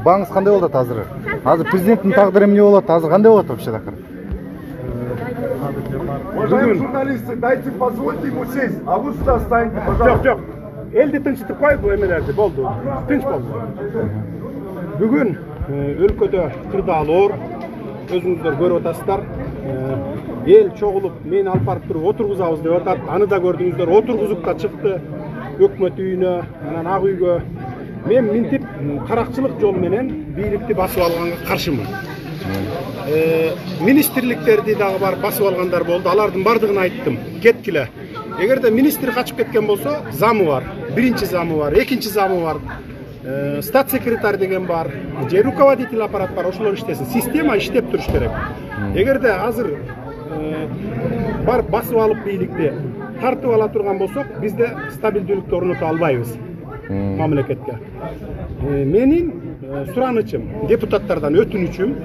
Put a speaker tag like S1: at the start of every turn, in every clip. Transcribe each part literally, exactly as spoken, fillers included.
S1: баңыз кандай болот азыр? Азыр президенттин тагдыры эмне болот? Азыр кандай болот вообще такыр?
S2: Уважаемые журналисты, дайте, позвольте ему сесть, а вы сюда встаньте, пожалуйста.
S3: Жок, жок. Элди тынчтып коюп, бул эмелерди болду. Тынч болду. Бүгүн өлкөдө кырдаалоор өзүңүздөр көрүп атасыздар. Эл чогулуп, мени алып барып туруп отургузабыз деп атат. Аны да көрдүңүздөр, отургузуп да чыкты. Өкмөт үйүнө, анан ак үйгө. Мен минтип каракчылык жол менен бийликти басып алганга каршымын. Министрликтерди дагы барып басып алгандар болду. Алардын бардыгын айттым. Кеткиле. Эгерде министр качып кеткен болсо, замы бар. Биринчи замы бар, экинчи замы бар. Стат секретарь деген бар, же руководитель аппарат бар, ошолор иштесин. Система иштеп туруш керек. Эгерде азыр барып басып алып бийликти тартып ала турган болсок, бизде стабилдүүлүктү орното албайбыз мамлекетке. Менин суранычым, депутаттардан өтүнүчүм,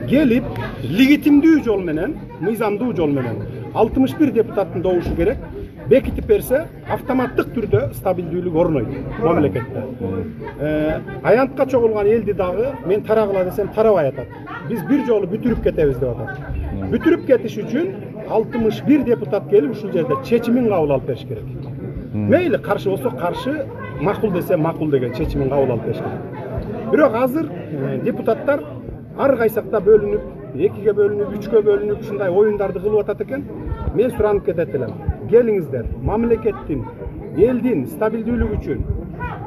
S3: келип легитимдүү жол менен, мыйзамдуу жол менен алтымыш бир депутаттын добушу керек, бекитип берсе, автоматтык түрдө стабилдүүлүк орнойт мамлекетте. Аянтка чогулган элди дагы мен тарагыла десем тарабай атат. Биз бир жолу бүтүрүп кетебиз деп атат. Бүтүрүп кетиш үчүн алтымыш бир депутат келип ушул жерде чечимин кабыл алып бериш керек. Мейли каршы болсо каршы, макул десе макул деген чечимин кабыл алып бериш керек. Бирок азыр депутаттар ар кайсакта бөлүнүп, экиге бөлүнүп, үчкө бөлүнүп, ушундай оюндарды кылып атат экен. Мен суранып кетет элем. Келиңиздер, мамлекеттин, элдин стабилдүүлүгү үчүн,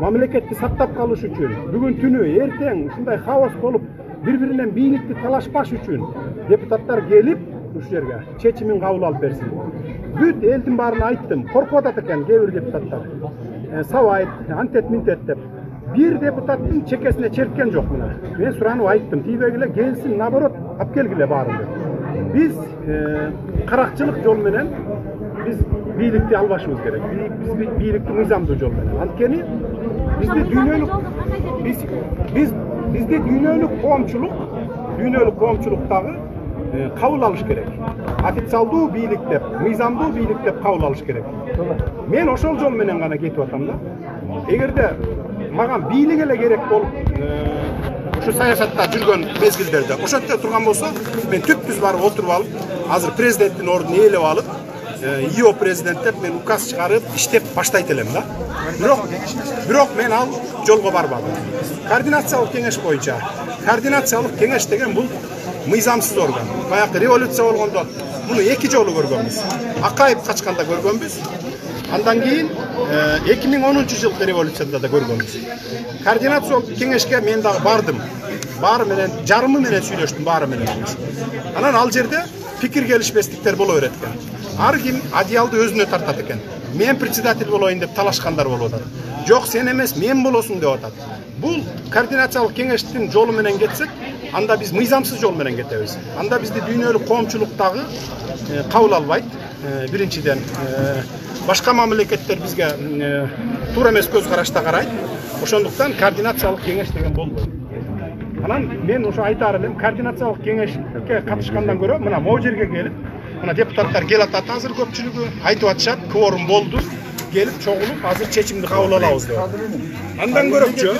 S3: мамлекетти сактап калыш үчүн, бүгүн түнү, эртең ушундай хаос болуп, бири-биринен бийликти талашпаш үчүн депутаттар келип ушул жерге чечимин кабыл алып берсин. Бүт элдин баарын айттым, коркуп атат экен кээ бир депутаттар. Сабайт, антет минтет деп. Бир депутаттын чекесине черткен жок мына. Мен суранып айттым, тийбегиле келсин, наоборот, алып келгиле баарын деп. Биз каракчылык жол менен биз бийликти албашыбыз керек. Биз бийликти мыйзамдуу жол менен. Анткени бизде дүйнөлүк биз биз бизде дүйнөлүк коомчулук, дүйнөлүк коомчулук дагы кабыл алыш керек. Официалдуу бийлик деп, мыйзамдуу бийлик деп кабыл алыш керек. Мен ошол жол менен гана кетип атам да. Эгерде маган бийлик эле керек болуп, ушу саясатта жүргөн мезгилдерде ошентсе турган болсо, мен түпкүз барып отуруп алып, азыр президенттин ордун ээлеп алып, ИО президент деп мен указ чыгарып, иштеп баштайт элем да. Бирок, бирок мен ал жолго барбадым. Координациялык кеңеш боюнча, координациялык кеңеш деген бул мыйзамсыз орган. Баягы революция болгондо муну эки жолу көргөнбүз. Акаев качканда көргөнбүз. Андан кийин эки миң онунчу жылкы революцияда да көргөнбүз. Координациялык кеңешке мен дагы бардым. Баары менен, жарымы менен сүйлөштүм, баары менен. Анан ал жерде пикир келишпестиктер боло берет экен. Ар ким одеялды өзүнө тартат экен. Мен председатель болоюн деп талашкандар болуп атат. Жок, сен эмес, мен болосуң деп атат. Бул координациялык кеңештин жолу менен кетсек, анда биз мыйзамсыз жол менен кетебиз. Анда бизди дүйнөлүк коомчулук дагы кабыл албайт. Биринчиден, башка мамлекеттер бизге туура эмес көз карашта карайт. Ошондуктан координациялык кеңеш деген болбойт. Анан мен ошо айтаар элем, координациялык кеңешке катышкандан көрө, мына могу жерге келип, мына депутаттар кел атат, азыр көпчүлүгү айтып атышат, кворум болду, келип чогулуп, азыр чечимди кабыл алабыз деп. Андан көрөкчү,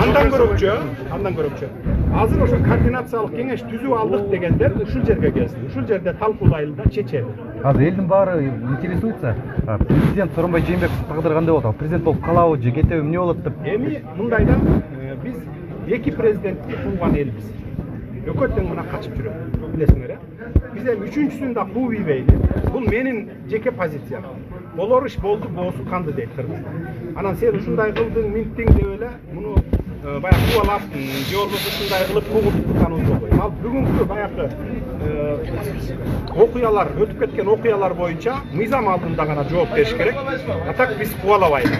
S3: андан көрөкчү, андан көрөкчү. Азыр ошо координациялык кеңеш түзүп алдык дегендер ушул жерге келсин. Ушул жерде талкуулайлы да чечели.
S1: Азыр элдин баары интересуется, президент Сооронбай Жээнбеков тагдыры кандай болот? Президент болуп калабы же кетеби, эмне болот деп?
S3: Эми мындайда биз эки президентти кууган элбиз. Экөө тең мына качып жүрөт, билесиңер э? Биз эми үчүнчүсүн да кууп ийбейли. Бул менин жеке позициям. Болор иш болду, боосу канды дейт кыргызда. Анан сен ушундай кылдың, минттиң деп эле муну баягы кубалап, же болбосо ушундай кылып куугуп турганыбыз болбойт. Ал бүгүнкү баягы окуялар, өтүп кеткен окуялар боюнча мыйзам алдында гана жооп бериш керек. А так биз кубалабайбыз.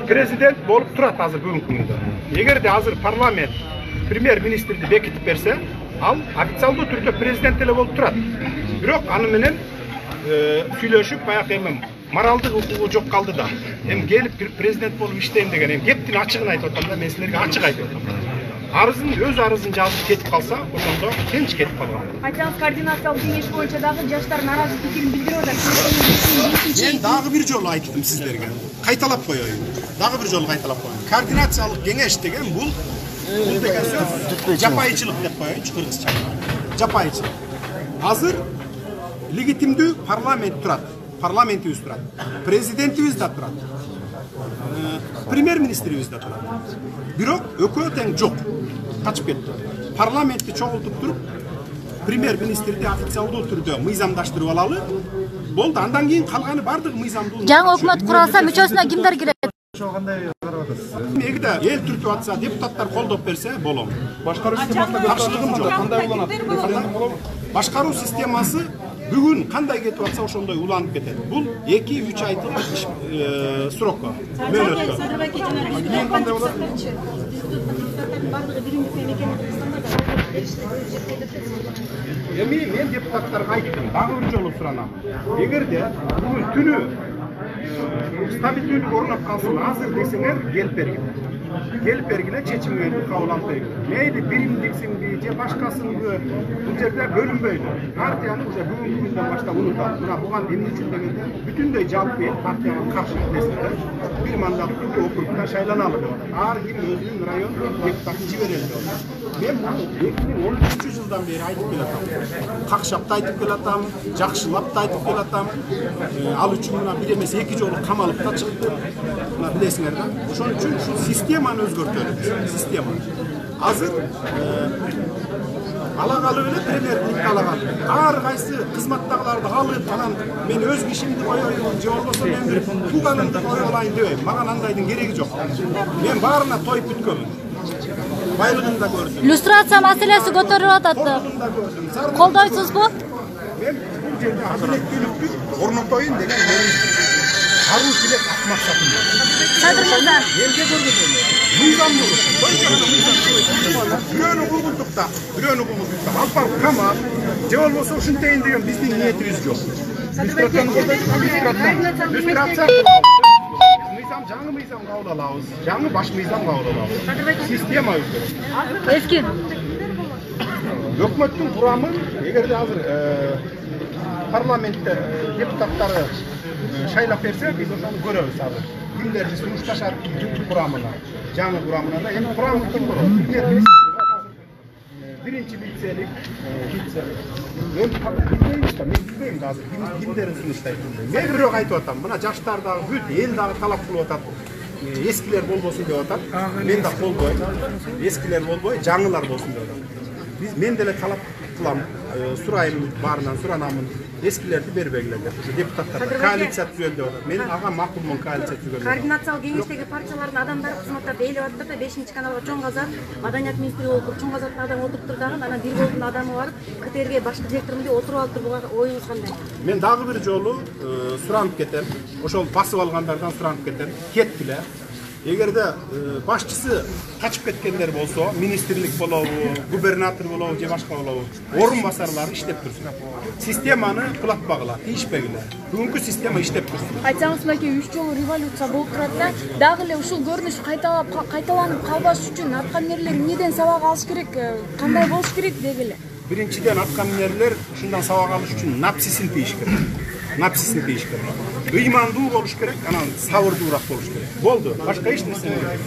S3: Президент болуп турат азыр бүгүнкү күндө. Эгерде азыр парламент премьер-министрди бекитип берсе, ал официалдуу түрдө президент эле болуп турат. Бирок аны менен сүйлөшүп, баягы эми моралдык укугу жок калды да. Эми келип президент болуп иштейм деген, эми кептин ачыгын айтып атам да, мен силерге ачык айтып атам. арызын өз арызын жазып кетип калса, ошондо тынч кетип калган.
S4: Айтсаңыз, координациялык кеңеш боюнча дагы жаштар нааразы пикирин билдирип атат.
S3: Мен дагы бир жолу айттым сиздерге. Кайталап коеюн. Дагы бир жолу кайталап коеюн. Координациялык кеңеш деген бул бул деген сөз жапайычылык деп коеюнчу кыргызча. Жапайычылык. Азыр легитимдүү парламент турат. Парламентибиз турат. Президентибиз да турат. Премьер-министрибиз да турат. Бирок экөө тең жок. Качып кетти. Парламентти чогултуп туруп, премьер-министрди официалдуу түрдө мыйзамдаштырып алалы. Болду, андан кийин калганы бардыгы мыйзамдуу.
S5: Жаңы өкмөт куралса, мүчөсүнө кимдер кирет?
S1: Ошо кандай карап атасыз?
S3: Эгерде эл түртүп атса, депутаттар колдоп берсе, болом.
S2: Башкаруу системасына
S3: Каршылыгым жок.
S2: кандай уланат? Референдум болобу?
S3: Башкаруу системасы бүгүн кандай кетип атса, ошондой уланып кетет. Бул эки үч айдык срокко, мөөнөткө.
S2: Кийин кандай болот?
S3: Эми мен депутаттарга айттым, дагы бир жолу суранам. Эгерде бүгүн түнү стабилдүүлүк орноп калсын, азыр десеңер келип бергиле. Келип бергиле, чечимге кабыл алып бергиле. Мейли биримдиксиңби же башкасыңбы, бул жерде бөлүнбөйлү. Партияны уже бүгүнкү күндөн баштап унутат. Мына буга эмне үчүн дегенде бүтүндөй жалпы эл партияга каршы эмнесине бир мандаттуу округда шайланалы деп атат. Ар ким өзүнүн район депутатын жиберели деп атат. Мен муну эки миң он үчүнчү жылдан бери айтып келатам. Какшап да айтып келатам, жакшылап да айтып келатам. Ал үчүн мына бир эмес эки жолу камалып да чыкты. Мына билесиңер да. Ошон үчүн ушул системаны өзгөртөлүп, система. Азыр ала калып эле премьерликти ала калды. Ар кайсы кызматтагыларды алып, анан мен өз кишимди коеюн, же болбосо мен бир тууганымды коюп алайын дебейм. Мага андайдын кереги жок. Мен баарына тоюп бүткөнмүн. Байлыгын да көрдүм.
S5: Люстрация маселеси көтөрүлүп атат. Колдойсузбу?
S3: Мен бул жерде адилеттүүлүктү орнотоюн деген менин аруу тилек максатым бар.
S5: Садыр мырза.
S3: Элге көргөзөлү. Мыйзамдуу. Бирөөнү кургултукта, бирөөнү кургултукта. Алып барып камап, же болбосо ушинтейин деген биздин ниетибиз жок. Люстрация. Мыйзам жаңы мыйзам кабыл алабыз. Жаңы баш мыйзам кабыл алабыз. Система өзгөрөт.
S5: Эски.
S3: Өкмөттүн курамы, эгерде азыр парламентте депутаттары шайлап берсе, биз ошону көрөбүз азыр. Кимдерди сунушташат курамына, жаңы курамына да. Эми курам ким болот? Биринчи вице-лик, вице. Мен билбейм да, мен билбейм да азыр кимдерин сунуштайт. Мен бирок айтып атам, мына жаштар дагы бүт эл дагы талап кылып атат. Эскилер болбосун деп атат. Мен да колдойм. Эскилер болбой, жаңылар болсун деп атат. Биз мен деле талап кылам, сурайм, баарынан суранамын. Эскилерди бербегиле деп. Депутаттар коалиция түзөлдү деп атат. Мен ага макулмун коалиция түзгөн.
S4: Координациялык кеңештеги партиялардын адамдары кызматтап ээлеп атат да, бешинчи каналга Чоң Казак маданият министри болуп, Чоң Казактын адамы отуруп дагы, анан бир голдун адамы барып, КТРге баш директорумун деп отуруп алып туруп, оюңуз кандай?
S3: Мен дагы бир жолу суранып кетем. Ошол басып алгандардан суранып кетем. Кеткиле. Эгерде башчысы качып кеткендер болсо, министрлик болобу, губернатор болобу же башка болобу, орун басарлары иштеп турсун. Системаны кулатпагыла, тийишпегиле. Бүгүнкү система иштеп турсун.
S6: Айтсаңыз, мынакей үч жолу революция болуп турат да, дагы эле ушул көрүнүш кайталап кайталанып калбаш үчүн аткаминерлер эмнеден сабак алыш керек, кандай болуш керек дегиле.
S3: Биринчиден аткаминерлер ушундан сабак алыш үчүн напсисин тийиш керек. Напсисин тийиш керек. Ыймандуу болуш керек, анан сабырдуураак болуш керек. Болду, башка эч нерсе эмес.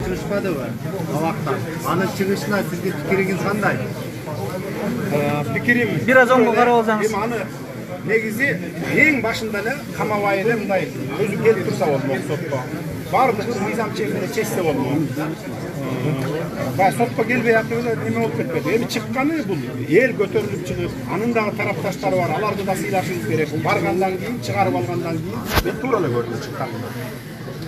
S7: Чыгышпадыбы? Абактан. Анын чыгышына сизге пикириңиз кандай?
S3: Пикирим
S1: бир аз оңго карап алсаңыз.
S3: Эми аны негизи эң башында эле камабай эле мындай өзү келип турса болмок сотко. Бардыгы мыйзам чегинде чечсе болмок. Бай сотко келбей атып эле эме болуп кетпеди. Эми чыкканы бул эл көтөрүлүп чыгып, анын дагы тарапташтары бар, аларды да сыйлашыбыз керек. Баргандан кийин, чыгарып алгандан кийин мен туура эле көрдүм чыкканын.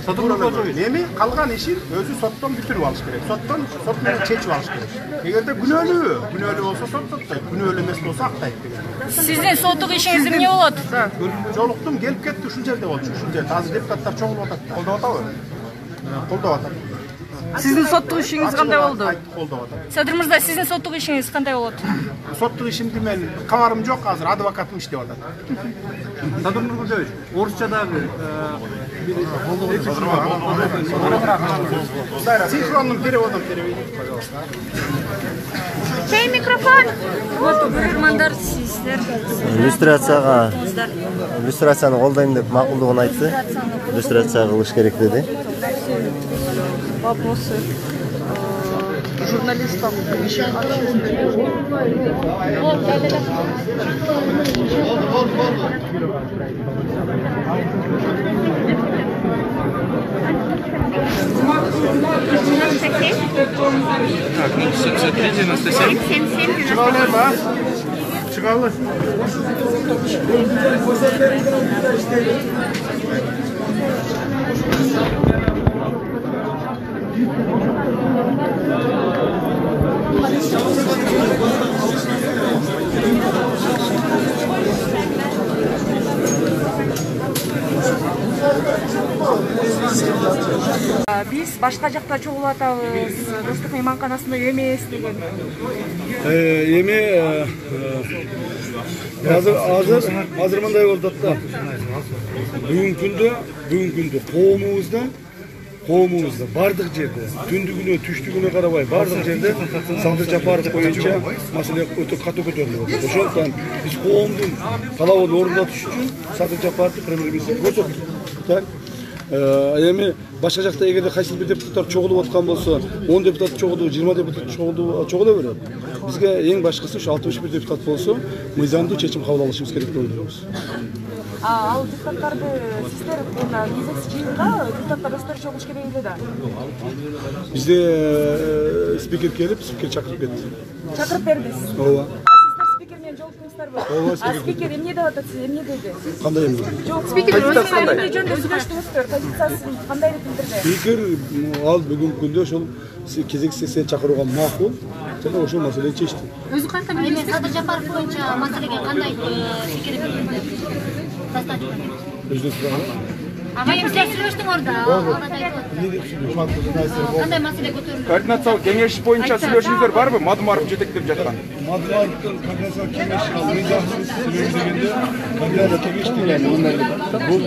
S3: Эми калган ишин өзү соттон бүтүрүп алыш керек. Соттон сот менен чечип алыш керек. Эгерде күнөөлүү, күнөөлүү болсо сот соттойт, күнөөлүү эмес болсо актайт деген.
S5: Сиздин соттук ишиңиз эмне болот?
S3: Жолуктум, келип кетти, ушул жерде болчу, ушул жерде. Азыр депутаттар чогулуп атат. Колдоп атабы? Колдоп атат.
S8: Сиздин соттук ишиңиз кандай болду?
S3: Колдоп атат.
S5: Садыр мырза, сиздин соттук ишиңиз кандай болот?
S3: Соттук ишимди мен кабарым жок, азыр адвокатым иштеп атат.
S1: Садыр Нургузевич, орусчадагы
S3: Синхронным переводом переведите, пожалуйста.
S6: Чей микрофон?
S5: Вот көрөрмандар, сиздер
S9: Иллюстрацияга иллюстрацияны колдойм деп макулдугун айтты. Иллюстрация кылыш керек деди.
S8: Вопросы журналистам.
S3: Чыгалайбы? Чыгалы.
S8: Биз башка жакта чогулуп атабыз. Достук мейманканасында эмес деген.
S10: Эми азыр азыр азыр мындай болуп атат да. Бүгүнкү күндө, бүгүнкү күндө коомубузда коомубузда бардык жерде түндүгүнө, түштүгүнө карабай бардык жерде Садыр Жапаров боюнча маселе өтө катуу көтөрүлүп атат. Ошондуктан биз коомдун талабын орундатыш үчүн Садыр Жапаровду премьер-министрге көрсөттүк. Так. Эми башка жакта эгерде кайсы бир депутаттар чогулуп аткан болсо, он депутат чогулуп, жыйырма депутат чогулуп чогула берет. Бизге эң башкысы ушу алтымыш бир депутат болсо, мыйзамдуу чечим кабыл алышыбыз керек деп ойлойбуз.
S8: А ал депутаттарды сиздер мына кезекси жыйынга депутаттар өздөрү чогулуш керек эле да.
S10: Бизде спикер келип, спикер чакырып кетти.
S8: Чакырып бердиңиз.
S10: Ооба.
S8: Спикер менен жолуктуңуздарбы?
S10: Ооба,
S8: А спикер эмне деп атат, сиз эмне деди?
S10: Кандай эмне?
S8: Жок, спикер өзүнүн эмне жөнүндө сүйлөштүңүздөр, позициясын кандай деп билдирди?
S10: Спикер ал бүгүнкү күндө ошол кезекси сессия чакырууга макул жана ошол маселени чечти.
S5: Өзү кантип эми Садыр Жапаров боюнча маселеге кандай пикир билдирди?
S10: Өзүнүн сурагы.
S5: Ага, эми сиз сүйлөштүңөр да. Кандай маселе көтөрүлдү?
S11: Координациялык кеңеш боюнча сүйлөшүүңүздөр барбы? Мадумаров жетектеп жаткан.
S10: Мадумаровдун координациялык кеңеши мыйзамсыз сүйлөгөндө координациялык кеңеш деген бул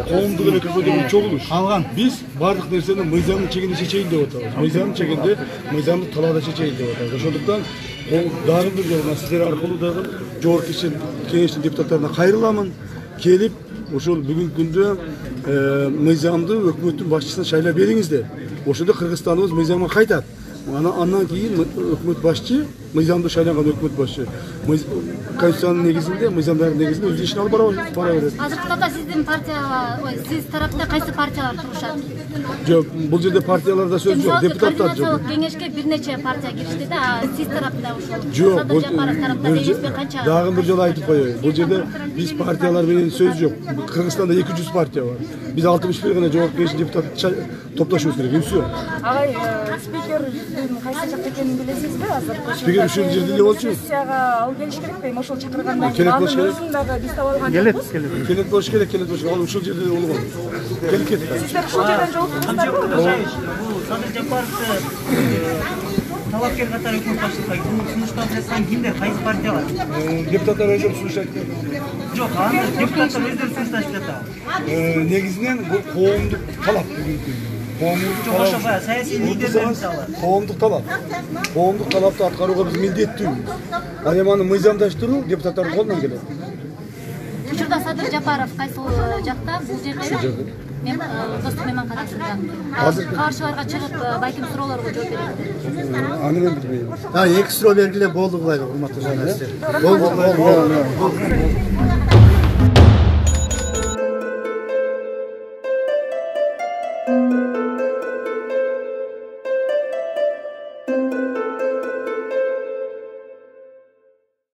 S10: коомдук элекке деген чогулуш. Калган биз бардык нерсени мыйзамдын чегинде чечейин деп атабыз. Мыйзамдын чегинде мыйзамдык талаада чечейин деп атабыз. Ошондуктан дагы бир жолу сиздер аркылуу дагы жогорку кеңештин депутаттарына кайрыламын. Келип ошол бүгүнкү күндө мыйзамды өкмөттүн башчысына шайлап бериңиздер. Ошондо Кыргызстаныбыз мыйзамга кайтат. Андан кийин өкмөт башчы, мыйзамдуу шайланган өкмөт башчы конституциянын негизинде, мыйзамдардын негизинде өз ишин алып бара берет.
S5: Азыркы тапта сиздин партияга, ой, сиз тарапта кайсы партиялар турушат?
S10: Жок, бул жерде партияларда сөз жок, депутаттар жок.
S5: Координациялык кеңешке бир нече партия киришти да, сиз тарапта ошол
S10: Садыр
S5: Жапаров тарапта эмеспи канча?
S10: Дагы бир жолу айтып коеюн. Бул жерде биз партиялар менен сөз жок. Кыргызстанда эки жүз партия бар. Биз алтымыш бир гана жогорку кеңештин депутаты топтошубуз керек. Эмсе?
S8: Агай, спикердин кайсы жакта экенин билесизби азыр?
S10: Спикер ушул жерде эле болчу.
S8: Сессияга ал келиш керекпи? Ошол чакыргандан
S10: Келет болуш керек.
S8: өзүн дагы биз таап алган
S10: Келет,
S8: жокпуз.
S10: келет. Келет болуш керек, келет болуш керек. Ал ушул жерде эле болгон. Келип кетти.
S8: Сиздер ушул жерден жолуктуңуздарбы?
S12: Садыр Жапаровду талапкер катары өкмөт башчылыгына сунуштап жаткан кимдер, кайсы партиялар?
S10: Депутаттар өздөрү сунуштайт.
S12: Жок, аны депутаттар өздөрү сунушташып жатат.
S10: Негизинен бул коомдук талап бүгүнкү.
S12: Жок, ошо баягы саясий лидерлер мисалы.
S10: Коомдук талап. Коомдук талапты аткарууга биз милдеттүүбүз. Ал эми аны мыйзамдаштыруу депутаттардын колунан келет.
S5: Учурда Садыр Жапаров кайсы жакта? Бул жерде мен достук мейманканасында азыр каршыларга чыгып байким суроолорго жооп берет.
S10: Аны мен билбейм.
S7: А, эки суроо бергиле болду булай, урматтуу журналисттер. Болду.